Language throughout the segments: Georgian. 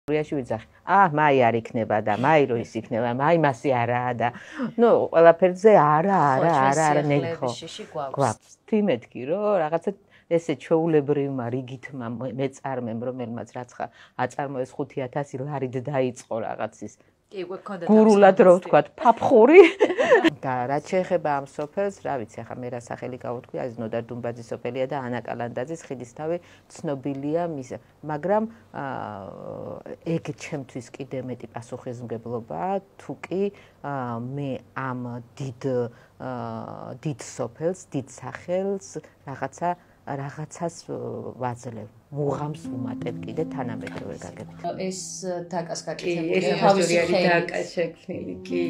გურიაში ვიძახი. მაი არ იქნება და მაი რო ის იქნება, მაი მასი არაა და ნუ ყველაფერზე არა ნეგხო. გვაქვს. თიმეთქი რომ რაღაცა ესე ჩვეულებრივმა რიგითმა მეწარმემ რომელმაც რაცხა აწარმოეს 5000 ლარით დაიწყო რაღაცის გურულად რო ვთქვათ ფაფხური და რაც შეეხება ამ სოფელს, რა ვიცი, ახლა მე რა სახელი გავუთქვი, აი ნოდარ დუმბაძის სოფელია და ანა კალანდაძის ხიდისთავი ცნობილია მის, მაგრამ ეგ ჩემთვის კიდე მეტი პასუხისმგებლობაა, თუ კი მე ამ დიდ სოფელს, დიდ სახელს რაღაცას ვაძლევ, მუღამს ვუმატებ კიდე თანამედროვე გაგებით. ეს დაკას გაკეთებული, ეს თავისი დაკა შექმნილი კი.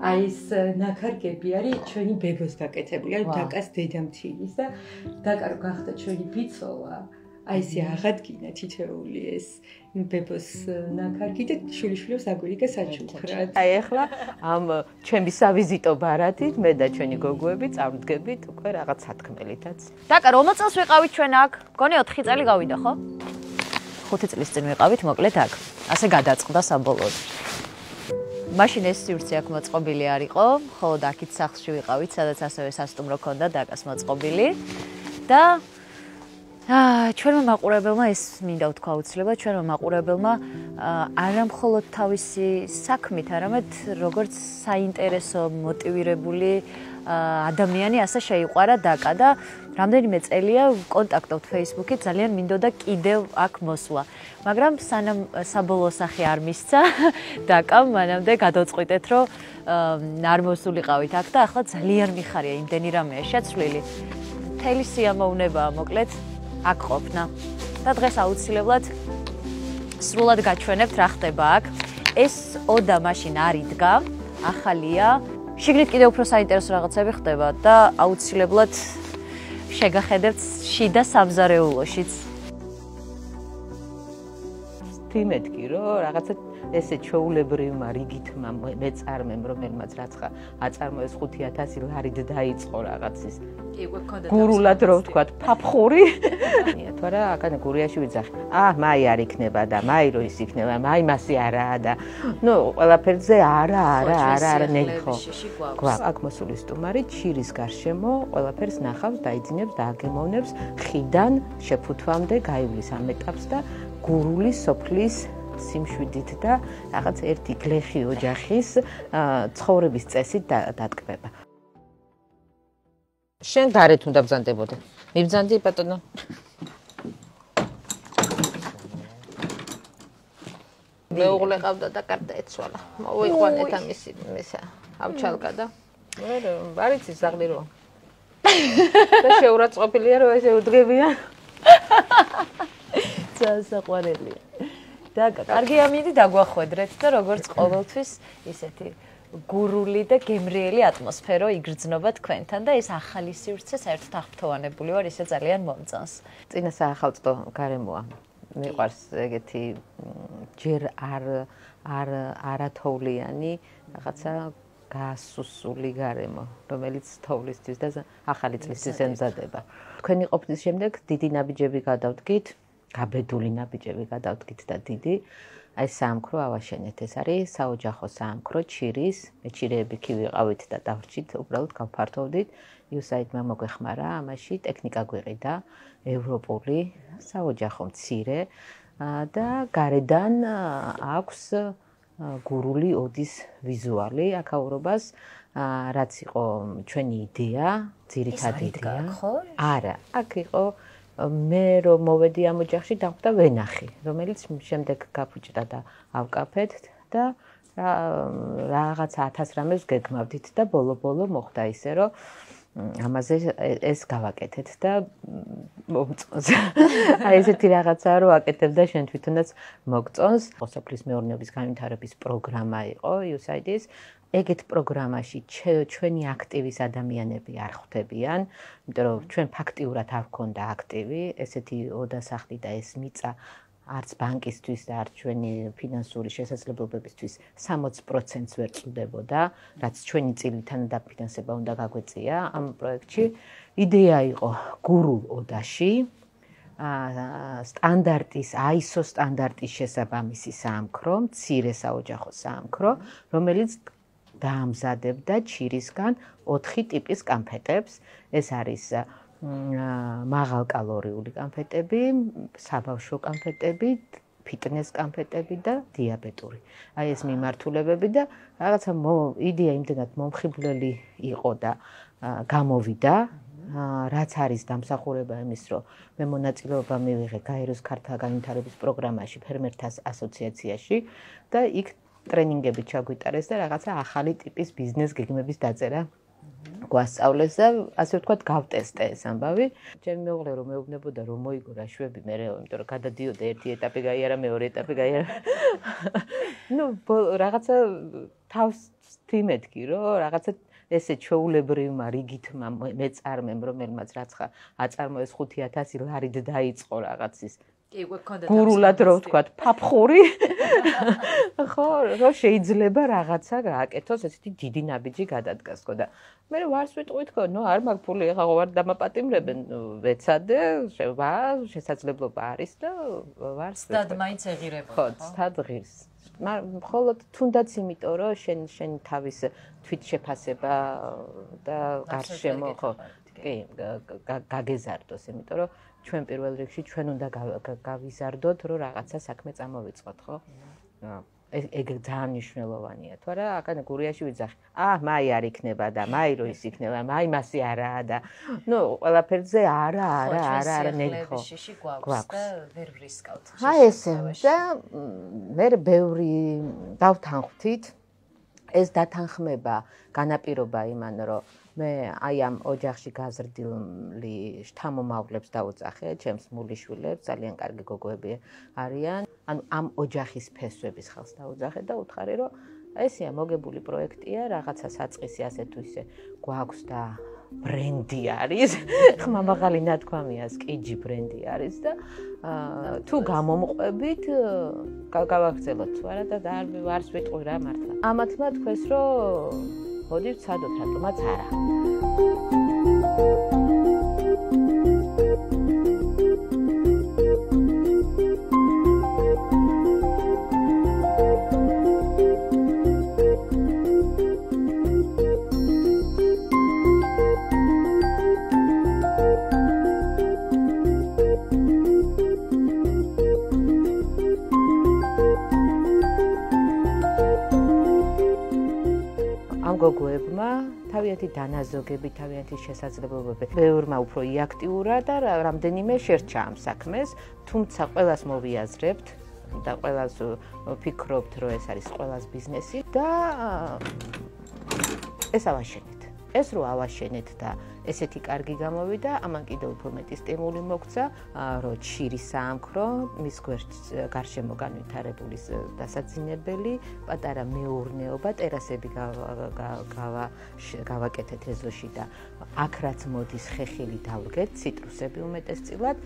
აი ეს ნაქარგები არის ჩვენი ბებოს გაკეთებული, არის დაკას დედამთილის და დაკა რო გახდა ჩვენი ბიცოლა. აი ესე აღადგინა თითეული ეს ბებოს ნაქარგი და შვილიშვილებს აგვირიგა საჩუქრად. აი ახლა ამ ჩემი სავიზიტო ბარათით მე და ჩვენი გოგოები წავდგებით უკვე რაღაც სათქმელითაც. დაკა რომელ წელს ვიყავით ჩვენ აქ? მგონი 4 წელი გავიდა, ხო? 5 წლის წინ ვიყავით მოკლედ აქ. ასე გადაწყდა საბოლოოდ. მაშინ ეს სივრცე აქ მოწყობილი არ იყო, ხოლო აქით სახლში ვიყავით, სადაც ასევე სასტუმრო ქონდა დაკას მოწყობილი და ჩვენმა მაყურებელმა ეს მინდა ვთქვა აუცილებლად, ჩვენმა მაყურებელმა არა მხოლოდ თავისი საქმით, არამედ როგორც საინტერესო მოტივირებული ადამიანი ასე შეიყვარა დაკა და რამდენიმე წელია ვკონტაქტობთ Facebook-ით, ძალიან მინდოდა კიდევ აქ მოსვლა. მაგრამ სანამ საბოლოო სახე არ მისცა, დაკამ მანამდე გადავწყვიტეთ, რომ არ მოსულიყავით აქ და ახლა ძალიან მიხარია, იმდენი რამეა შეცვლილი. მთელი სიამოვნებაა მოკლედ აქ ყოფნა და დღეს აუცილებლად სრულად გაჩვენებთ რა ხდება აქ. ეს ოდა მაშინ არ იდგა, ახალია. შიგნით კიდევ უფრო საინტერესო რაღაცები ხდება და აუცილებლად შეგახედებთ შიდა სამზარეულოშიც. თიმეთქი რომ რაღაცა ესე ჩვეულებრივმა რიგითმა მეწარმემ რომელმაც რაცხა აწარმოეს 5000 ლარით დაიწყო რაღაცის გურულად რო ვთქვათ ფაფხური თორე აქ გურიაში ვიძახი. მაი არ იქნება და მაი რო ის იქნება, მაი მასი არაა და ნუ ყველაფერზე არა ნეგხო. გვაქვს აქ მოსული სტუმარი ჩირის გარშემო ყველაფერს ნახავს, დაიძინებს და აგემოვნებს ხიდან შეფუთვამდე გაივლის ამ ეტაპს და გურული სოფლის სიმშვიდით და რაღაც ერთი გლეხი ოჯახის ცხოვრების წესით დატკბება. შენ გარეთ უნდა ბრძანდებოდე. მიბრძანდი ბატონო. მეუღლე ყავდა და კარტა ეცვალა. მოვიყვანეთ ამისი ავჩალკა და არ იცი ზაღლი რო. და შეურაცხყოფილია რომ ესე უდგებია. საყვარელია. და კარგი ამინდი დაგვახვედრეთ და როგორც ყოველთვის ისეთი გურული და გემრიელი ატმოსფერო იგრძნობა თქვენთან და ეს ახალი სივრცე საერთოდ აღფრთოვანებული ვარ, ისე ძალიან მომწონს. წინა საახალწლო გარემოა. მიყვარს ეგეთი ჯერ არათოვლიანი რაღაცა გასუსული გარემო, რომელიც თოვლისთვის და ახალი წლისთვის ემზადება. თქვენი ყოფნის შემდეგ დიდი ნაბიჯები გადავდგით. გაბედული ნაბიჯები გადავდგით და დიდი აი საამქრო ავაშენეთ. ეს არის საოჯახო საამქრო ჩირის, მე ჩირეები კი ვიყავით და დავრჩით, უბრალოდ გავფართოვდით. USAID-მა მოგვეხმარა, ამაში ტექნიკა გვიყიდა, ევროპული, საოჯახო მცირე და გარედან აქვს გურული ოდის ვიზუალი აქაურობას, რაც იყო ჩვენი იდეა, ძირითადი იდეა. არა, აქ იყო მე რომ მოვედი ამ ოჯახში დახვდა ვენახი, რომელიც შემდეგ გაფუჭდა და ავკაფეთ და რაღაცა 1000 რამეს გეგმავდით და ბოლო მოხდა ისე რომ ამაზე ეს გავაკეთეთ და მომწონს. აი ესეთი რაღაცა რომ აკეთებ და შენ თვითონაც მოგწონს. სოფლის მეურნეობის განვითარების პროგრამა იყო USAID-ის. ეგეთ პროგრამაში ჩვენი აქტივის ადამიანები არ ხვდებიან, იმიტომ რომ ჩვენ ფაქტიურად არ გქონდა აქტივი, ესეთი ოდასახლი და ეს მიწა არც ბანკისთვის და არც ჩვენი ფინანსური შესაძლებლობებისთვის 60%-ს ვერ წვდებოდა, რაც ჩვენი წილიდან დაფინანსება უნდა გაგვეწია ამ პროექტში. იდეა იყო გურულ ოდაში სტანდარტის ISO სტანდარტის შესაბამისი საამქრო, მცირე საოჯახო საამქრო, რომელიც დაამზადებდა ჩირისგან 4 ტიპის კანფეტებს. ეს არის მაღალკალორიული კანფეტები, საბავშვო კანფეტები, ფიტნეს კანფეტები და დიაბეტური. აი ეს მიმართულებები და რაღაცა იდეა იმდენად მომხიბვლელი იყო და გამოვიდა, რაც არის დამსახურება იმის, რომ მე მონაწილეობა მივიღე გაეროს ქართლა განვითარების პროგრამაში, ფერმერთა ასოციაციაში და იქ ტრენინგები ჩაგვიტარეს და რაღაცა ახალი ტიპის ბიზნეს გეგმების დაწერა გვასწავლეს და ასე ვთქვათ გავტესტე ეს ამბავი. ჩემი მეუღლე რომ მეუბნებოდა რომ მოიგო რა შვები მერე, იმიტომ რომ გადადიოდა ერთი ეტაპი გაიარა, მეორე ეტაპი გაიარა. რაღაცა თავს თიმეთქი რომ რაღაცა ესე ჩვეულებრივმა რიგითმა მეწარმემ რომელმაც რაცხა აწარმოეს 5,000 ლარით დაიწყო რაღაცის გურულად რო ვთქვათ ფაფხური ხო რომ შეიძლება რაღაცა გააკეთოს ესეთი დიდი ნაბიჯი გადადგას ხო და მე ვარს ვიტყვით ხო ნუ არ მაქვს ფული ეხლა ვარ დამაპატიმრებენ ვეცადე შესაძლებლობა არის და ვარს სტად მაინც ეღირებოდა ხო სტად ღირს მხოლოდ თუნდაც იმიტომ რომ შენ თავის თვითშეფასება და გარშემო ხო კი გაგეზარდოს იმიტომ რომ ჩვენ პირველ რიგში ჩვენ უნდა გავიზარდოთ რომ რაღაცა საქმე წამოვიწყოთ ხო ეგ ძალიან მნიშვნელოვანია თუ არა აკანე გურიაში ვიძახი მაი არ იქნება და მაი რო ის იქნება მაი მასი არაა და ნუ ყველაფერზე არა ნეგო გვაქვს და ვერ ვრისკავთ ესე და მე ბევრი დავთანხმდით ეს დათანხმება განაპირობა იმან რომ მე აი ამ ოჯახში გაზრდილი შთამომავლებს დავუძახე, ჩემს მულიშვილებს, ძალიან კარგი გოგოები არიან. ანუ ამ ოჯახის ფესვების ხალხს დავუძახე და უთხარი, რომ ესეა მოგებული პროექტია, რაღაცა საწყისი ასე თუ ისე გვაქვს და ბრენდი არის. ხმამაღალი ნათქვამია, სკიჯი ბრენდი არის და თუ გამომყვებით, გავაგრძელოთ თუ არა და არც ვიტყვი რა მართლა. ამათმა თქვეს, რომ მოდი ვცადოთ, რატომაც არა. გოგოებმა თავიანთი დანაზოგები, თავიანთი შესაძლებლობები ბევრმა უფრო იაქტიურა და რამდენიმე შერჩა ამ საქმეს, თუმცა ყველას მოვიაზრებთ და ყველას ვფიქრობთ, რომ ეს არის ყველას ბიზნესი და ეს ავაშენეთ. ეს რო ავაშენეთ და ესეთი კარგი გამოვიდა, ამან კიდევ უფრო მეტი სტიმული მოგცა, რომ ჩირის საამქრო, მის გარშემო განვითარებული დასაძინებელი, პატარა მეურნეობა, ტერასები გავაკეთეთ ეზოში და აქ რაც მოდის ხეხილი დავდგეთ, ციტრუსები უმეტესწილად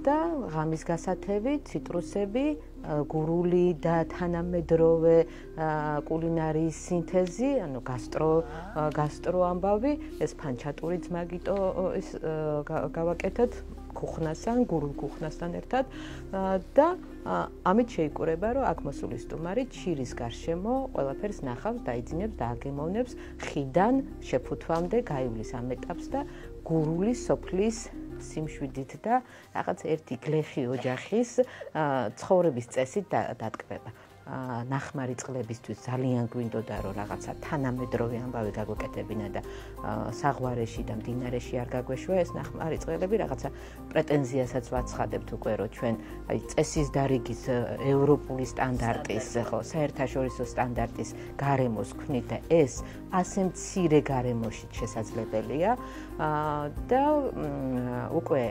და ღამის გასათევი, ციტრუსები, გურული და თანამედროვე კულინარიის სინთეზი, ანუ გასტრო ამბავი, ეს ფანჩატურიც მაგიტო ეს გავაკეთეთ ქუხნასთან, გურულ ქუხნასთან ერთად და ამით შეიკურება, რომ აქ მოსული სტუმარი ჩირის გარშემო ყველაფერს ნახავს, დაიძინებს და აგემოვნებს ხიდან შეფუთვამდე გაივლის ამ ეტაპს და გურული სოფლის სიმშვიდით და რაღაც ერთი გლეხი ოჯახის ცხოვრების წესით დატკბება. ნახმარი წყლებისთვის ძალიან გვინდოდა რომ რაღაცა თანამედროვე ამბავი გაგვეკეთებინა და საღვარეში და მდინარეში არ გაგვეშვა ეს ნახმარი წყლები რაღაცა პრეტენზიასაც ვაცხადებთ უკვე რომ ჩვენ აი წესის დარიგის ევროპული სტანდარტის ხო საერთაშორისო სტანდარტის გარემოს ვქნით და ეს ასე მცირე გარემოში შესაძლებელია და უკვე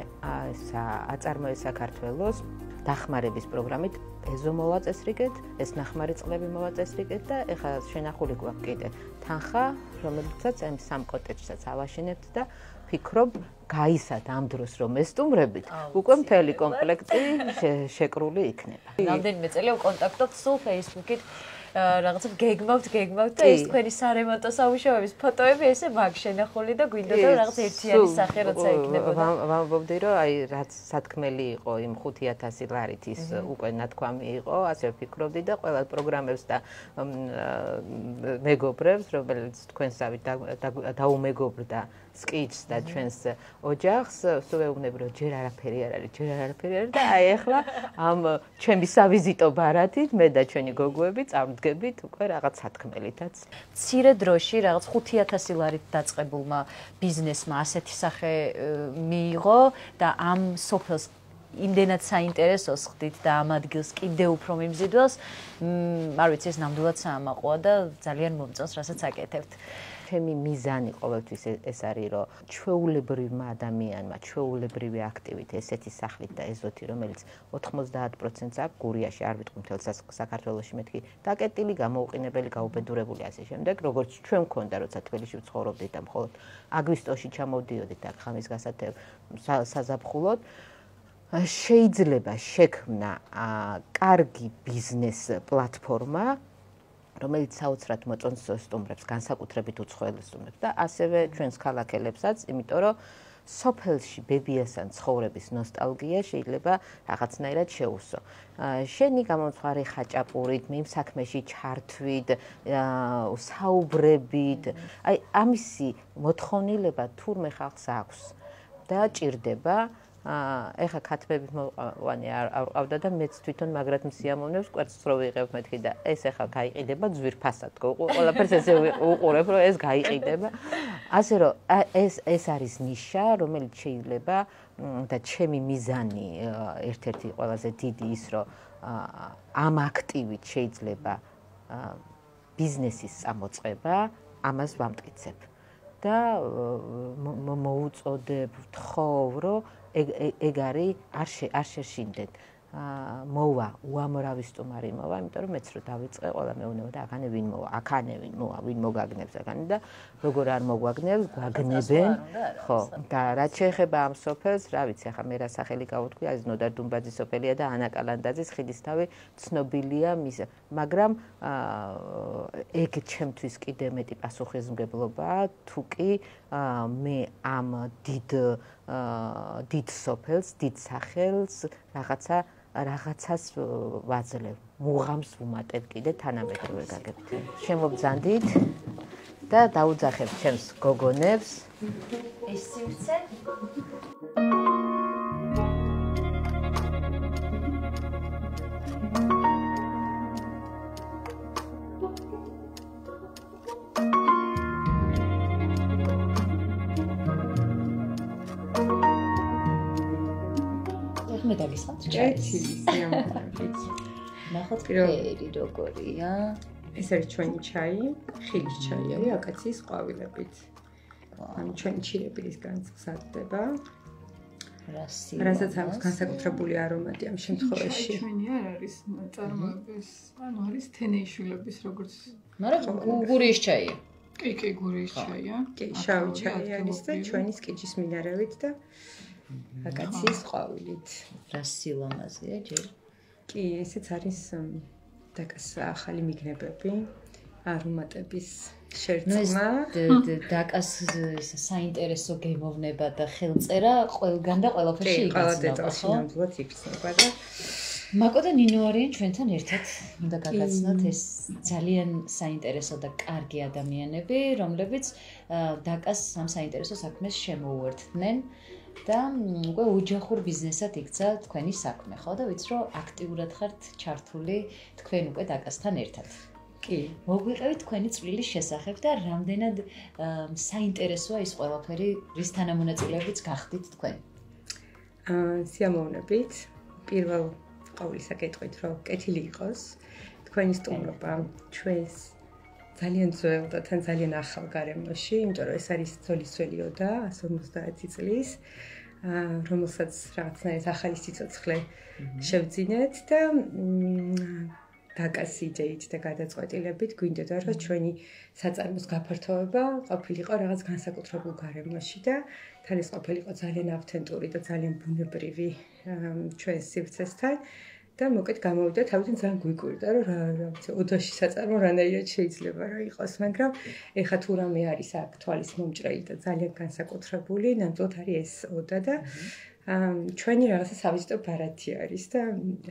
აწარმოეს საქართველოს დახმარების პროგრამით ეზო მოვაწესრიგეთ, ეს ნახმარი წყლები მოვაწესრიგეთ და ეხლა შენახული გვაქვს კიდე თანხა, რომელიცაც ამ სამ კოტეჯსაც ავაშენებთ და ფიქრობ გაისად ამ დროს რომ ესტუმრებით, უკვე მთელი კომპლექტი შეკრული იქნება. რამდენიმე წელია ვკონტაქტობთ სულ Facebook-ით რაღაცა გეგმავთ და ეს თქვენი სარემონტო სამუშაოების ფოტოები ესე მაგ შენახული და გვინდოდა რაღაც ერთიანი სახე როცა იქნებოდა. ვამბობდი რომ აი რაც სათქმელი იყო იმ 5000 ლარით ის უკვე ნათქვამი იყო, ასე ვფიქრობდი და ყველა პროგრამებს და მეგობრებს, რომელიც თქვენსავით დაუმეგობრდა sketch და ჩვენს ოჯახს, სულ ეუბნები რომ ჯერ არაფერი არ არის და აი ახლა ამ ჩემი სავიზიტო ბარათით მე და ჩვენი გოგოები წავდგებით უკვე რაღაც სათქმელითაც. მცირე დროში რაღაც 5000 ლარით დაწყებულმა ბიზნესმა ასეთი სახე მიიღო და ამ სოფელს იმდენად საინტერესოს ხდით და ამ ადგილს კიდევ უფრო მიმზიდველს, არ ვიცი ეს ნამდვილად საამაყოა და ძალიან მომწონს, რასაც აკეთებთ. ჩემი მიზანი ყოველთვის ეს არის, რომ ჩვეულებრივმა ადამიანმა, ჩვეულებრივი აქტივით ესეთი სახლით და ეზოთი, რომელიც 90%-ს აქვს გურიაში, არ ვიტყვი მთელ საქართველოში მეთქი, დაკეტილი, გამოუყინებელი, გაუბედურებული ასე შემდეგ, როგორც ჩვენ მქონდა, როცა თბილისში ვცხოვრობდით და მხოლოდ აგვისტოში ჩამოვდიოდით აქ ხამის გასათევ საზაფხულოდ. შეიძლება შექმნა კარგი ბიზნეს პლატფორმა, რომელიც საოცრად მოწონს სტუმრებს, განსაკუთრებით უცხოელ სტუმრებს და ასევე ჩვენს ქალაქელებსაც, იმიტომ რომ სოფელში ბებიასთან ცხოვრების ნოსტალგია შეიძლება რაღაცნაირად შეუსო. შენი გამომცხვარი ხაჭაპურით, იმ საქმეში ჩართვით, საუბრებით, აი ამისი მოთხოვნილება თურმე ხალხს აქვს და ჭირდება. ეხა ქათმებით მოყვანი არ ყავდა და მეც თვითონ მაგრად მსიამოვნებს კვერცხს რო ვიღებ მეთქი და ეს ეხა გაიყიდება ძვირფასად ყველაფერს ესე უყურებ რომ ეს გაიყიდება ასე რომ ეს არის ნიშა რომელიც შეიძლება და ჩემი მიზანი ერთ-ერთი ყველაზე დიდი ის რომ ამ აქტივით შეიძლება ბიზნესის წამოწყება ამას ვამტკიცებ და მოუწოდებ ვთხოვ რომ ეგ არის არ შეშინდეთ მოვა უამრავი სტუმარი მოვა იმიტომ რომ მეც რო დავიწყე ყველა მეუბნება და აქანე ვინ მოვა აქანე ვინ მოვა ვინ მოგაგნებს აქანე და როგორ არ მოგვაგნებს გაგნებენ ხო და რაც შეეხება ამ სოფელს რა ვიცი ახლა მე რა სახელი გავუთქვი აი ნოდარ დუმბაძის სოფელია და ანა კალანდაძის ხიდისთავი ცნობილია მის მაგრამ ეგ ჩემთვის კიდე მეტი პასუხისმგებლობაა თუ კი მე ამ დიდ სოფელს დიდ სახელს რაღაცას ვაძლევ, მუღამს ვუმატებ კიდე თანამედროვე გაგებით. შემობძანდით და დაუძახებ ჩემს გოგონებს. ეს სივრცე მე დაგისხამთ ჭაი სიამოვნებით. ნახოთ ფერი როგორია. ეს არის ჩვენი ჩაი, ხილის ჩაი არის აკაციის ყვავილებით. ანუ ჩვენი ჩირებილისგან გზადდება. რასაც აქვს განსაკუთრებული არომატი ამ შემთხვევაში. ჩვენი არ არის წარმოების, ანუ არის თენეიშვილების როგორც. მაგრამ გურიის ჩაია. კი, გურიის ჩაია. კი, შავი ჩაი არის და ჩვენი სკიჩის მინარევით და აკაციის ყვავილით. რა სილამაზეა ჯერ. კი, ესეც არის დაკას ახალი მიგნებები, არომატების შერწყმა. დაკას საინტერესო გემოვნება და ხელწერა ყველგან და ყველაფერში იგრძნობა. ყველა დეტალში ნამდვილად იგრძნობა და მაკო და ნინო არიან ჩვენთან ერთად. უნდა გაგაცნოთ ეს ძალიან საინტერესო და კარგი ადამიანები, რომლებიც დაკას ამ საინტერესო საქმეს შემოუერთდნენ. და უკვე ოჯახურ ბიზნესად იქცა თქვენი საქმე, ხო და ვიცი რომ აქტიურად ხართ ჩართული თქვენ უკვე დაკასთან ერთად. კი, მოგვიყევით თქვენი წვლილის შესახებ და რამდენად საინტერესოა ის ყველაფერი, რის თანამონაწილეებიც გახდით თქვენ. სიამოვნებით. პირველ ყოვლისა კითხვით რომ კეთილი იყოს თქვენი სტუმრობა ჩვენს ძალიან ძველ და თან ძალიან ახალ გარემოში, იმიტომ რომ ეს არის ძოლისველიო და 150 წლის, რომელსაც რაღაცნაირად ახალი სიცოცხლე შევძინეთ და დაკას იდეით და გადაწყვეტილებით გვინდოდა რომ ჩვენი საწარმოს გაფართოება ყოფილიყო რაღაც განსაკუთრებულ გარემოში და თან ეს ყოფილიყო ძალიან ავთენტური და ძალიან ბუნებრივი ჩვენს სივრცესთან და მოკეთ გამოვიდა თავიდან ძალიან გვიკვირდა რომ რა ვიცი ოდაში საწარმო რანაირად შეიძლება რა იყოს მაგრამ ეხა თუ რამე არის აქ თვალის მომჭრელი და ძალიან განსაკუთრებული ნამდვილად არის ეს ოდა და ჩვენი რაღაცა სავიზიტო ბარათი არის და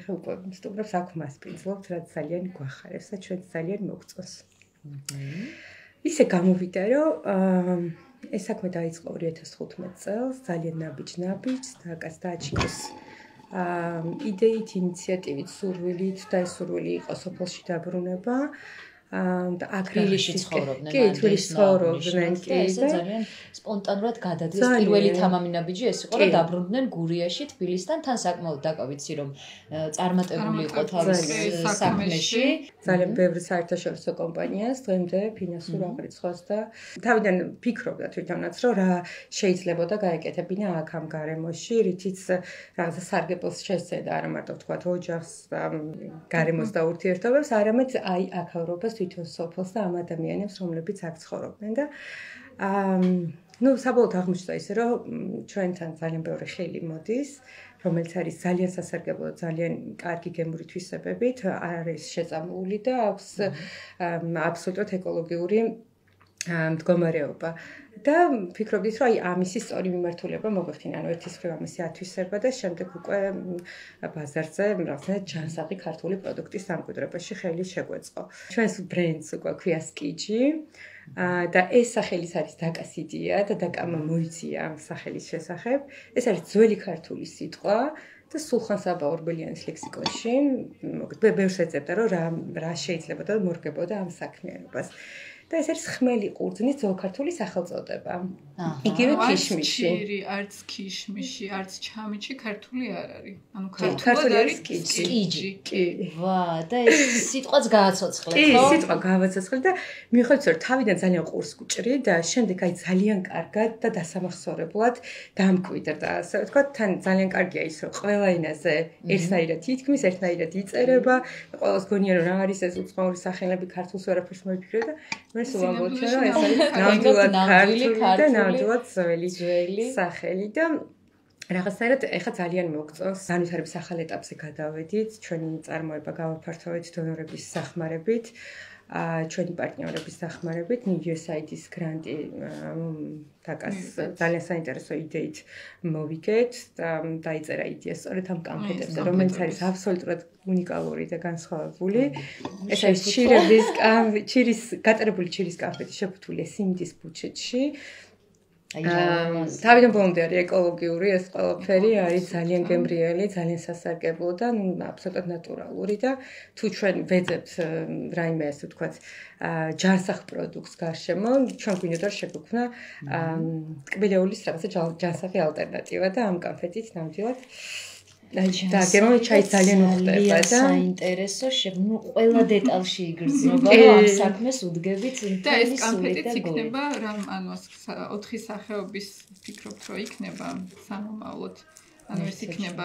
ეხა უკვე სტუმრებს აქ მასპინძლობთ რაც ძალიან გვახარებს და ჩვენს ძალიან მოგწონს ისე გამოვიდა რომ ეს საქმე დაიწყო 2015 წელს ძალიან ნაბიჯ და კაც დააჩინოს იდეით, ინიციატივით, სურვილით და ეს სურვილი იყო სოფელში დაბრუნება და აქ თბილისში ცხოვრობდნენ. კი, თბილისში ცხოვრობდნენ კი და ძალიან სპონტანურად გადადის პირველი თამამი ნაბიჯი ეს იყო რომ დაბრუნდნენ გურიაში თბილისთან თან საკმაოდ დაკავიცი რომ წარმატებული იყო თავის საქმეში ძალიან ბევრი საერთაშორისო კომპანიას დღემდე ფინანსურ აღრიცხვას და თავიდან ფიქრობდა თვითონაც რომ რა შეიძლებოდა გაეკეთებინა აქ ამ გარემოში რითიც რაღაცა სარგებლოს შესცედა არა მარტო ვთქვათ ოჯახს გარემოს და ურთიერთობებს არამედ აი აქაურობას თვითონ სოფელს და ამ ადამიანებს რომლებიც აქ ცხოვრობდნენ და ну საბოლოოდ აღმოჩნდა ისე რომ ჩვენთან ძალიან ბევრი ხელი მოდის რომელიც არის ძალიან სასარგებლო ძალიან კარგი გემური თვისებებით არ არის შეწამული და აქვს აბსოლუტურად ეკოლოგიური მდგომარეობა და ფიქრობდით რომ აი ამისი სწორი მიმართულება მოგვეხდინა ანუ ერთის მხრივ ამისი ათვისება და შემდეგ უკვე ბაზარზე რაღაცნაირად ჯანსაღი ქართული პროდუქტის დამკვიდრებაში ხელი შეგვეწყო ჩვენს ბრენდს უკვე ქვია სკიჯი და ეს სახელიც არის დაკას იდეა და დაკამ მოიწია ამ სახელის შესახებ ეს არის ძველი ქართული სიტყვა და სულხან-საბა ორბელიანის ლექსიკონში მოგეთ ბევრს ეძებდა რომ რა შეიძლება და მორგებოდა ამ საქმიანობას და ეს არის ხმელი ყურძნის ძველქართული სახელწოდება. იგივე ქიშმიში. არც ქიშმიში, არც ჩამიში ქართული არ არის. ანუ ქართული არის სკიჯი. კი. ვა, და ეს სიტყვაც გააცოცხლეთ, ხო? კი, სიტყვა გააცოცხლეთ და მიხედვით რომ თავიდან ძალიან ყურს გჭრი და შემდეგ აი ძალიან კარგად და დასამახსოვრებლად დამკვიდრდა. ასე ვთქვათ, თან ძალიან კარგია ის რომ ყველა ენაზე ერთნაირად ითქმის, ერთნაირად იწერება. ყველას გონია რომ რა არის ეს უცხოური სახელები ქართულს ვერაფერს მოიფიქრე და მე სულამბობ რომ ეს არის ნამდვილად ქართული და ნამდვილად ძველი სახელი და რაღაცნაირად ეხა ძალიან მოგწონს განვითარების ახალ ეტაპზე გადავედით ჩვენი წარმოება გავაფართოვეთ დონორების სახმარებით ჩვენი პარტნიორების სახმარებით USAID-ის გრანტი დაკას ძალიან საინტერესო იდეით მოვიგეთ და დაიწერა იდეა სწორედ ამ კამფეტებზე რომელიც არის აბსოლუტურად უნიკალური და განსხვავებული ეს არის ჩირის გატარებული ჩირის კამფეტი შეფუთულია სიმინდის ბუჩეტში თავიდან ბოლომდე არის ეკოლოგიური ეს ყველაფერი არის ძალიან გემრიელი, ძალიან სასარგებლო და აბსოლუტურად ნატურალური და თუ ჩვენ ვეძებთ რაიმე ასე ვთქვათ ჯანსაღ პროდუქტს გარშემო, ჩვენ გვინდოდა რომ შეგვექმნა ტკბილეულის რაღაცა ჯანსაღი ალტერნატივა და ამ კამფეტით ნამდვილად და გემოვი ჩაი ძალიან უხდება და საინტერესო ნუ ყველა დეტალში იგრძნობა რომ ამ საქმეს უდგებით და ეს კამფეტიც იქნება რამ ანუ 4 სახეობის ფიქრობთ რომ იქნება სამომავლოდ ანუ ეს იქნება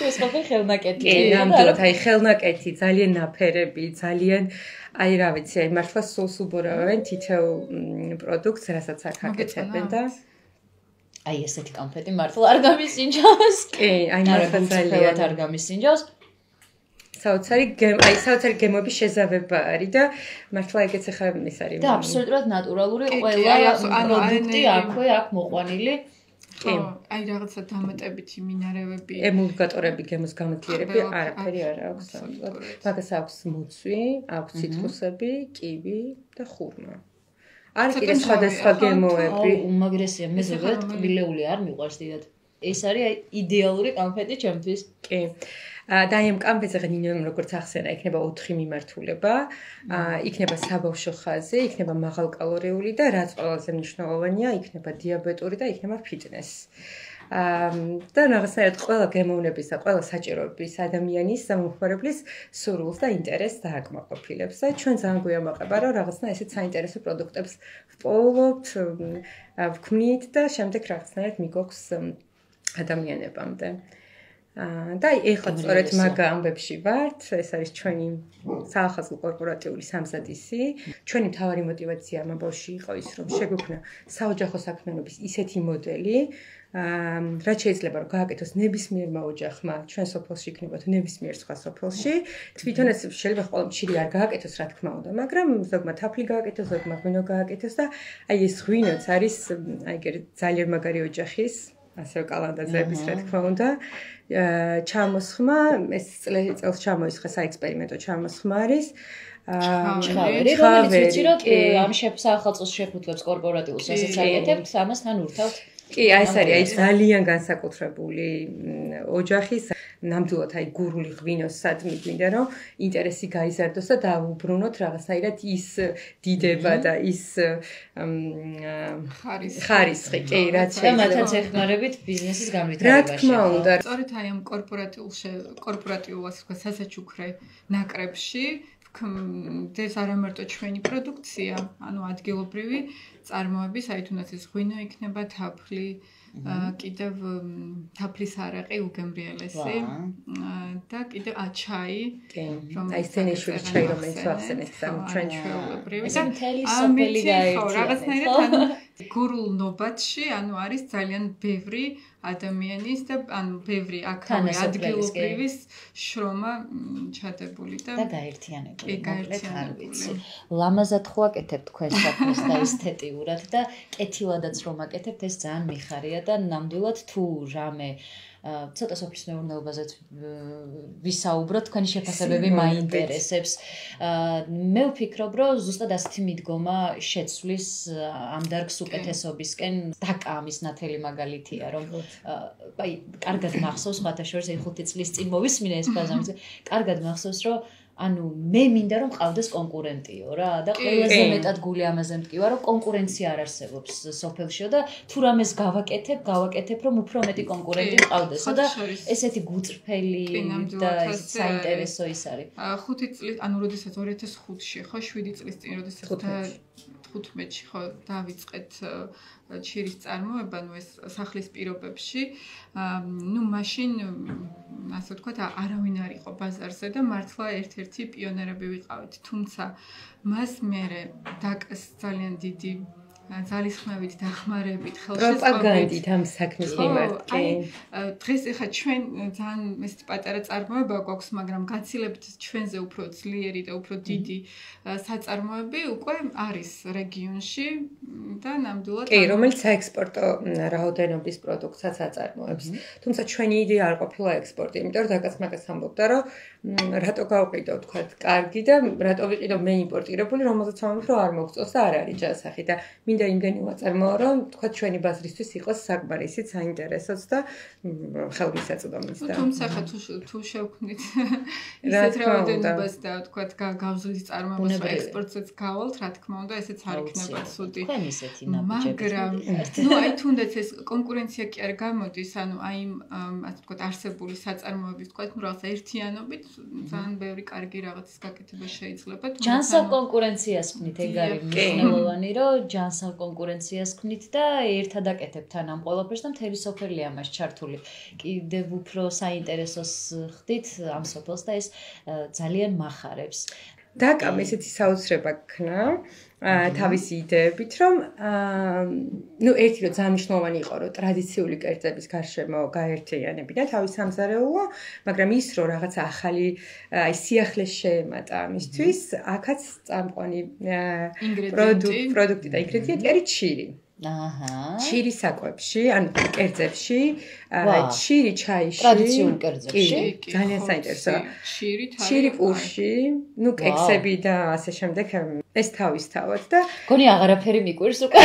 ეს ყოფილი ხელნაკეთი ნამდვილად აი ხელნაკეთი ძალიან ნაფერები ძალიან აი რა ვიცი აი მართლა სულს უბორავენ თითოეულ პროდუქტს რასაც აქ აკეთებენ და აი ესეთი კამფეტი მართლა არ გამისინჯავს. კი, აი მართლა ძალიან არ გამისინჯავს. საოცარი გემობის შეზავება არის და მართლა ეგეც ახლა ის არის. და აბსოლუტურად ნატურალური ყველა პროდუქტი აქვე აქ მოყვანილი. კი, აი რაღაცა დამატებითი მინარევები, ემულგატორები, გემოს გამათიერები არაფერი არ აქვს. მაგას აქვს მუცვი, აქვს ციტრუსები, კივი და ხურმა. არის კიდე სხვადასხვა გემოები. უმაგრესია, მე ზოგადად ტკბილეული არ მიყვარს დიდად. ეს არის აი იდეალური კამფეტი ჩემთვის. კი. და აი ამ კამფეტზე ღნინო როგორც ახსენა, იქნება 4 მიმართულება, იქნება საბავშვო ხაზი, იქნება მაღალკალორიული და რაც ყველაზე მნიშვნელოვანია, იქნება დიაბეტური და იქნება ფიტნეს. და რაღაცნაირად ყველა გემოვნების და ყველა საჭიროების ადამიანის მომხმარებლის სურვილს და ინტერესს დააკმაყოფილებს. და ჩვენ ძალიან გვიამაყება, რომ რაღაცნა ესეთ საინტერესო პროდუქტებს ვპოულობთ, ვქმნით და შემდეგ რაღაცნაირად მიგოქს ადამიანებამდე. და ეხლა სწორედ მაგ ამბებში ვართ, ეს არის ჩვენი საახალწლო კორპორატიული სამზადისი. ჩვენი მთავარი мотиваცია ამ ამბავში იყო ის, რომ შეგვექმნა საოჯახო საქმიანობის ისეთი მოდელი, რაც შეიძლება რომ გააკეთოს ნებისმიერმა ოჯახმა ჩვენ სოფელში იქნება თუ ნებისმიერ სხვა სოფელში. თვითონაც შეიძლება ყველა მჭირი არ გააკეთოს, რა თქმა უნდა, მაგრამ ზოგმა თაფლი გააკეთოს, ზოგმა ღვინო გააკეთოს და აი ეს ღვინოც არის აი ეგ ძალიან მაგარი ოჯახის ასევე კალანდაძეების რა თქმა უნდა ჩამოსხმა ეს წელს ჩამოისხა საექსპერიმენტო ჩამოსხმა არის ჩხავერი რომელიც ვიცი რომ ამ საახალწლოს შეფუთლებს კორპორატიულ სასაცილოებს ამასთან ურთავთ კი აი ეს არის აი ძალიან განსაკუთრებული ოჯახის ნამდვილად აი გურული ღვინოს სადმი გვინდა რომ ინტერესი გაიზარდოს და დაუბრუნოთ რაღაცნაირად ის დიდება და ის ხარისხი კი რაც შეიძლება მათაც ეხმარებით ბიზნესის განვითარებაში რა თქმა უნდა სწორედ აი ამ კორპორატიულ სასაჩუქრე ნაკრებში ეს არ ამარტო ჩვენი პროდუქცია, ანუ ადგილობრივი წარმოების, აი თუნდაც ეს ღვინო იქნება, თაფლი, კიდევ თაფლის არაყი უგემრიელესი და კიდევ ჩაი, აი სცენიშული ჩაი, რომელიც ახსენეთ ჩვენ ჩვეულებრივი და მთელი სოფელი გაერთიანეთ. რაღაცნაირად ანუ გურულ ნობათში, ანუ არის ძალიან ბევრი ადამიანის და ანუ ბევრი აქავე ადგილობრივის შრომა ჩადებული და გაერთიანებული. მოკლედ არ ვიცი. ლამაზად ხო აკეთებ თქვენ საქმეს და ესთეტიურად და კეთილადაც რომ აკეთებთ ეს ძალიან მიხარია და ნამდვილად თუ რამე ცოტა სოფლის მეურნეობაზეც ვისაუბროთ, თქვენი შეფასებები მაინტერესებს. მე ვფიქრობ, რომ ზუსტად ასეთი მიდგომა შეცვლის ამ დარგს უკეთესობისკენ დაკამის ნათელი მაგალითია, რომ აი, კარგად მახსოვს, სხვათა შორის 5 წლის წინ მოვისმინე ეს ფაზა, კარგად მახსოვს, რომ ანუ მე მინდა რომ ყავდეს კონკურენტიო რა და ყველაზე მეტად გული ამაზე მტკივა რომ კონკურენცია არ არსებობს სოფელშიო და თუ რამეს გავაკეთებ რომ უფრო მეტი კონკურენტი მყავდესო და ესეთი გუწრფელი და საინტერესო ის არის 5 წლის ანუ როდესაც 2005-ში ხო 7 წლის წინ როდესაც 15-ში ხო დავიწყეთ ჩირის წარმოება, ნუ ეს სახლის პირობებში, ნუ მაშინ ასე ვთქვათ, არავინ არ იყო ბაზარზე და მართლა ერთ-ერთი პიონერები ვიყავით. თუმცა მას მერე დაკას ძალიან დიდი ძალისხმევით დახმარებით, ხელშეწყობით პროპაგანდით ამ საქმის მიმართ. კი. დღეს ახლა ჩვენ ძალიან ეს პატარა წარმოება გვაქვს, მაგრამ გაცილებთ ჩვენზე უფრო ძლიერი და უფრო დიდი საწარმოები უკვე არის რეგიონში და ნამდვილად კი, რომელიც საექსპორტო რაოდენობის პროდუქტსაც აწარმოებს. თუმცა ჩვენი იდეა არ ყოფილა ექსპორტი, იმიტომ რომ დაკაც მაგას ამბობდა, რომ რატო გავყიდო თქვათ, კარგი და რატო ვიყიდო მე იმპორტირებული, რომელზეც ამბობ, რომ არ მოგწონს და არ არის ჯანსაღი და მინდა იმდენი ვაწარმოო, რომ თქვათ ჩვენი ბაზრისთვის იყოს საკმარისით საინტერესოც და ხელმისაწვდომიც და თუმცა ხა თუ შევქმნით ისეთ რაოდენობას და თქვათ გავზრდის წარმოებას ექსპორტსაც გავალთ, რა თქმა უნდა, ესეც არ იქნება ცუდი. მაგრამ ნუ აი თუნდაც ეს კონკურენცია კი არ გამოდის, ანუ აი ასე ვთქვათ არსებული საწარმოების თქვათ ნუ რაღაცა ერთიანობით ძალიან ბევრი კარგი რაღაცის გაკეთება შეიძლება. ჯანსაღ კონკურენციას ქმნით, ეგ არის მნიშვნელოვანი, რომ ჯანსაღ კონკურენციას ქმნით და ერთად აკეთებთ ამ ყველაფერს და მთელი სოფელი ამას ჩართული. კიდევ უფრო საინტერესოს ხდით ამ სოფელს და ეს ძალიან მახარებს. დაკამ ესეთი საოცრება ქნა თავისი იდეებით, რომ ნუ ერთი რომ ძალიან მნიშვნელოვანი იყო, რომ ტრადიციული კერძების გარშემო გაერთიანებინა თავის სამზარეულო, მაგრამ ის რომ რაღაცა ახალი აი სიახლეს შეემატა ამისთვის, აქაც წამყვანი პროდუქტი და ინგრედიენტი არის ჩირი. აჰა. ჩირი საკვებში, ანუ კერძებში, ჩირი ჩაიში, ტრადიციულ კერძებში, ძალიან საინტერესოა. ჩირი პურში, ნუ კექსები და ასე შემდეგ, ეს თავისთავად და გონი აღარაფერი მიკვირს უკვე.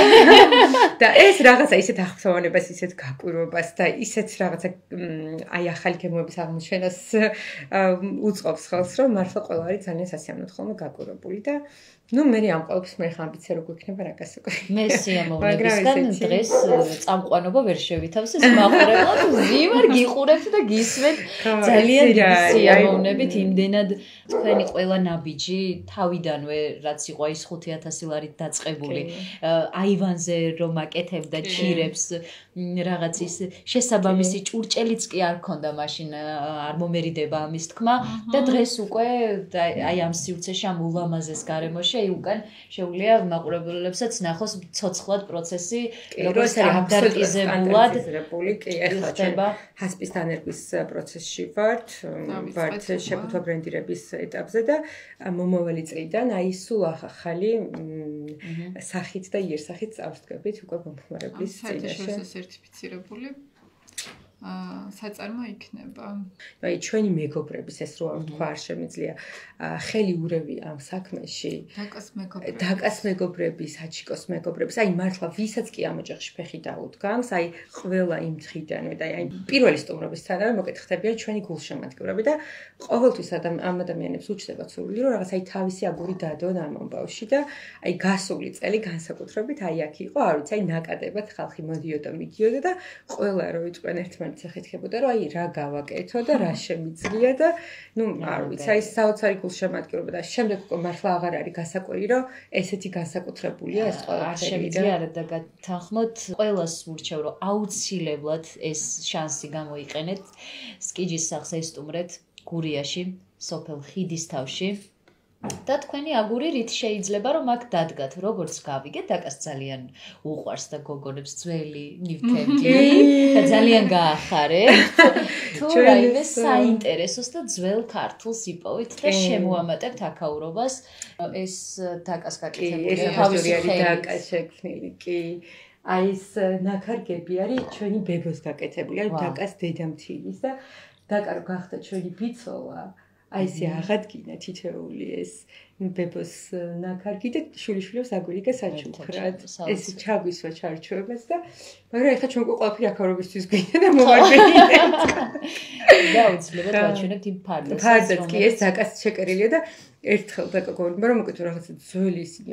და ეს რაღაცა ისეთ აღფრთოვანებას, ისეთ გაკვირვებას და ისეთ რაღაცა აი ახალი გემოების აღმოჩენას უწყობს ხელს, რომ მართლა ყველა არის ძალიან სასიამოვნოდ ხოლმე გაკვირვებული და ნუ მე ამ ყოველთვის მე ხან ამბიცია რო გვექნება რა გასაკეთე. მე სიამოვნებით წლებისგან დღეს წამყვანობა ვერ შევითავს ეს მაყურებლად ვიმარ გიყურებთ და გისმენთ ძალიან დიდი სიამოვნებით იმდენად თქვენი ყველა ნაბიჯი თავიდანვე რაც იყო ის 5000 ლარით დაწყებული აივანზე რომ აკეთებდა ჩირებს რაღაც ის შესაბამისი ჭურჭელიც კი არ ქონდა მაშინ არ მომერიდება ამის თქმა და დღეს უკვე აი ამ სივრცეში ამ ულამაზეს გარემოში აი უკან შეუძლია მაყურებლებსაც ნახოს ცოცხლად პროცესი როგორც აბდარტიზებულად კი ეხლა ჰასპის დანერგვის პროცესში ვართ შეფუთვა ბრენდირების ეტაპზე და მომავალი წლიდან აი სულ ახალი სახით და იერსახით წავსდგებით უკვე მომხმარებლის წინაშე სერტიფიცირებული საწარმო იქნება. აი ჩვენი მეგობრების ეს რო თქვა არ შემიძლია ხელი ურევი ამ საქმეში. დაკას მეგობრები, საჩიკოს მეგობრებს, აი მართლა ვისაც კი ამ ოჯახში ფეხი დაუდგამს, აი ყველა იმ დღიდანვე და აი პირველი სტუმრობისთანავე მოკითხდებიან ჩვენი გულშემატკივრები და ყოველთვის ამ ადამიანებს უჩნდებათ სურვილი რომ რაღაც აი თავისი აგური დადონ ამ ამბავში და აი გასული წელი განსაკუთრებით აი აქ იყო, არ ვიცი, აი ნაკადებად ხალხი მოდიოდა მიდიოდა და ყველა რო იყვნენ ერთმანეთს ეხეთქებოდა რომ აი რა გავაკეთო და რა შემიძლია და ნუ არ ვიცი, აი საოცარი გულშემატკივრობა და შემდეგ უკვე მართლა აღარ არის გასაკვირი რომ ესეთი განსაკუთრებულია ეს ყველაფერი. არ შემიძლია არა და გათანხმოთ ყველას ვურჩევ რომ აუცილებლად ეს შანსი გამოიყენეთ სკიჯის სახლს ესტუმრეთ გურიაში სოფელ ხიდისთავში და თქვენი აგური რით შეიძლება რომ აქ დადგათ როგორც გავიგეთ დაკას ძალიან უყვარს და გოგონებს ძველი ნივთები და ძალიან გაახარეთ თუ რაიმე საინტერესოს და ძველ ქართულს იპოვით და შემოამატებთ აქაურობას ეს დაკას გაკეთებული თავისი დაკა შექმნილი კი აი ეს ნაქარგები არის ჩვენი ბებოს გაკეთებული აი დაკას დედამთილის და დაკა რო გახდა ჩვენი ბიცოლა აი ესე აღადგინა თითეული ეს ბებოს ნაქარგი და შვილიშვილებს აგვირიგა საჩუქრად ეს ჩაგვისვა ჩარჩოებას და მაგრამ ეხლა ჩვენ ყველაფერი აქაურობისთვის გვინდა და მოვარდნით და უცლებოდ ვაჩვენებთ იმ ფარდაც კი ეს დაკას შეკერილია და ერთხელ დაკა გორმა რომ მოკეთო რაღაცა ძველი ისინი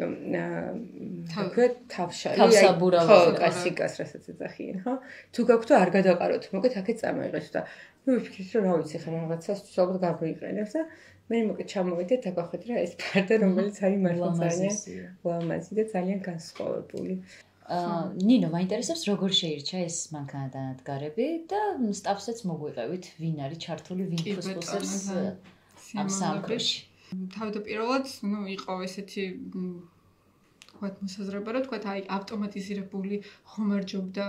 თქვა თავშარი თავსაბურავი ხო კასიკას რასაც ეძახიან ხო თუ გაქვთ არ გადაყაროთ მოკეთ აქეთ წამოიღეთ და ნუ ვიფიქრეთ რომ რა ვიცი ხა რაღაცას ალბათ გამოიყენებს და მე მოკეთ ჩამოვიდეთ დაგახვეთ რა ეს ფარდა რომელიც არის მართლა ძალიან ლამაზი და ძალიან განსხვავებული ნინო მაინტერესებს როგორ შეირჩა ეს მანქანადანადგარები და სტაფსაც მოგვიყევით ვინ არის ჩართული ვინ ფუსფუსებს ამ სამყაროში თავდაპირველად ნუ იყო ესეთი თქვათ მოსაზრება რომ თქვათ აი ავტომატიზირებული ხომარჯობდა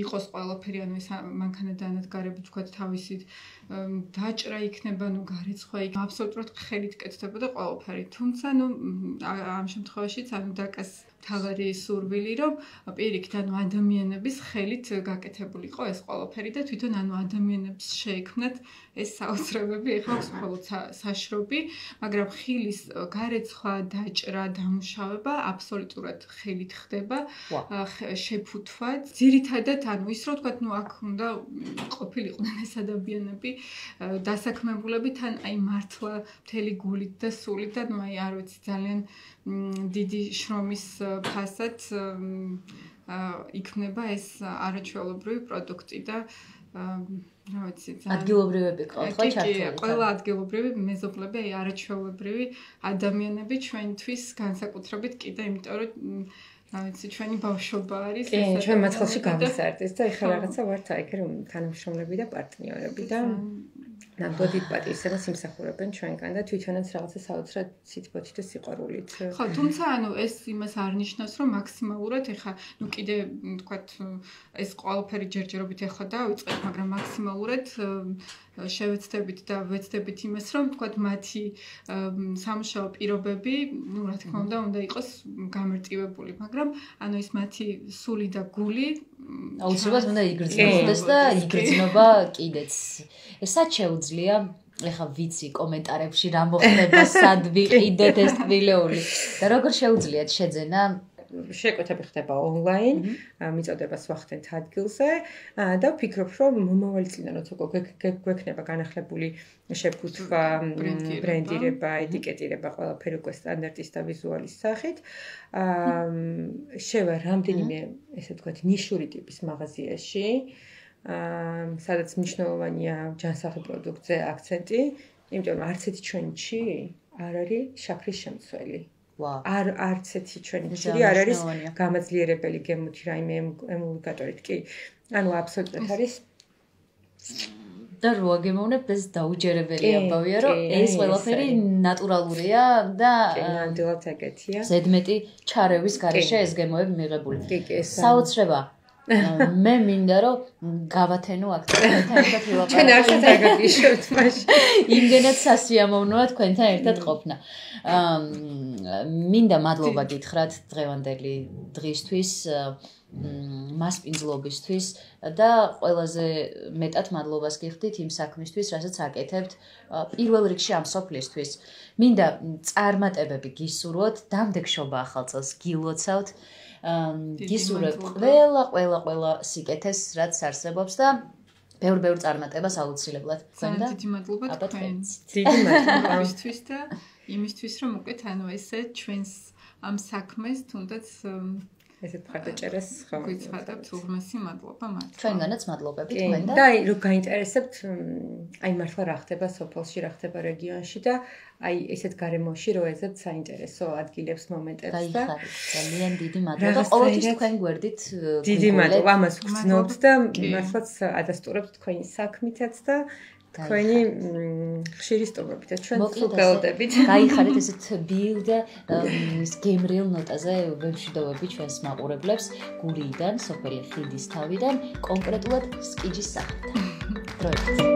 იყოს ყველაფერი ანუ ეს მანქანადანადგარები თქვათ თავისით დაჭრა იქნება ნუ გარეცხვა იქნება აბსოლუტურად ხელით კეთდებოდა ყველაფერი თუმცა ნუ ამ შემთხვევაშიც ანუ დაკას თავარი სურვილი რომ პირიქით ანუ ადამიანების ხელით გაკეთებულიყო ეს ყველაფერი და თვითონ ანუ ადამიანებს შეექმნათ ეს საოცრებები ეხლა მხოლოდ საშრობი მაგრამ ხილის გარეცხვა დაჭრა დამუშავება აბსოლუტურად ხელით ხდება შეფუთვა ძირითადად ანუ ის რომ თქვათ ნუ აქ უნდა ყოფილიყვნენ ეს ადამიანები დასაქმებულები თან აი მართლა მთელი გულით და სულით და ნუ აი არ ვიცი ძალიან დიდი შრომის ფასად იქნება ეს არაჩვეულებრივი პროდუქტი და რა ვიცი ადგილობრივები ყავთ ხო ჩართული ყველა ადგილობრივი მეზობლები აი არაჩვეულებრივი ადამიანები ჩვენთვის განსაკუთრებით კიდე იმიტომ რომ რა ვიცი ჩვენი ბავშვობა არის ეს ჩვენ მაცხელში გავისარდეს და ეხლა რაღაცა ვართ აი რომ თანამშრომლები და პარტნიორები და ნამდვილად პატივისცემას იმსახურებენ ჩვენგან და თვითონაც რაღაცა საოცრად სიტყვით და სიყვარულით. ხო, თუმცა ანუ ეს იმას არ ნიშნავს, რომ მაქსიმალურად ეხა ნუ კიდე თქვათ ეს ყველაფერი ჯერჯერობით ეხა დავიწყეთ, მაგრამ მაქსიმალურად შევეცდებით და ვეცდებით იმას, რომ თქვათ მათი სამუშაო პირობები, ნუ რა თქმა უნდა იყოს გამარტივებული, მაგრამ ანუ ეს მათი სული და გული აუცილებლად უნდა იგრძნოდეს და იგრძნობა კიდეც. ესაც შეუძლია ეხა ვიცი კომენტარებში რა მოხდება სად ვიყიდოთ ეს ტბილეული და როგორ შეუძლიათ შეძენა შეკვეთები ხდება ონლაინ, მიწოდებას ვახდენთ ადგილზე და ვფიქრობ, რომ მომავალი წლიდან როცა გვექნება განახლებული შეფუთვა, ბრენდირება, ეტიკეტირება, ყველაფერი უკვე სტანდარტის და ვიზუალის სახით, შევა რამდენიმე, ესე ვთქვათ, ნიშური ტიპის მაღაზიაში, სადაც მნიშვნელოვანია ჯანსაღი პროდუქტზე აქცენტი, იმიტომ რომ არც ერთი ჩვენში არ არის შაქრის შემცველი. არც ერთი ჩვენი ჭირი არ არის გამაძლიერებელი გემოთი რაიმე ემულგატორით კი. ანუ აბსოლუტურად არის და რო აგემოვნებ ეს დაუჯერებელი ამბავია რომ ეს ყველაფერი ნატურალურია და ნამდვილად ეგეთია. ზედმეტი ჩარევის გარეშე ეს გემოები მიღებული. საოცრება მე მინდა რომ გავათენო აქცენტთან ერთად ვილაპარაკო. ჩვენ არცად არ გაგიშოთ მაშინ. იმდენად სასიამოვნოა თქვენთან ერთად ყოფნა. მინდა მადლობა გითხრათ დღევანდელი დღისთვის, მასპინძლობისთვის და ყველაზე მეტად მადლობას გიხდით იმ საქმისთვის, რასაც აკეთებთ პირველ რიგში ამ სოფლისთვის. მინდა წარმატებები გისურვოთ, დამდეგშობა ახალ წელს გილოცავთ. გისურვებ ყველა სიკეთეს, რაც არსებობს და ბევრ წარმატებას აუცილებლად. დიდი მადლობა თქვენ. დიდი მადლობა იმისთვის და იმისთვის, რომ უკეთ ანუ ესე ჩვენს ამ საქმეს თუნდაც ესეთ მხარდაჭერას გვიცხადებთ უღმესი მადლობა მათ. ჩვენგანაც მადლობები თქვენ და და რომ გაინტერესებთ აი მართლა რა ხდება სოფელში, რა ხდება რეგიონში და აი ესეთ გარემოში რო ეძებთ საინტერესო ადგილებს მომენტებს და ძალიან დიდი მადლობა ყოველთვის თქვენ გვერდით დიდი მადლობა ამას ვგრძნობთ და მართლაც ადასტურებთ თქვენი საქმითაც და თქვენი ხშირი სტუმრობითაც ჩვენ ვგელდებით. გაიხარეთ ესეთ ბიუ და გემრიელ ნოტაზე ვემშვიდობები ჩვენს მაყურებლებს გურიიდან, სოფელი ხიდის თავიდან, კონკრეტულად სკიჯის სახელთან. დროებით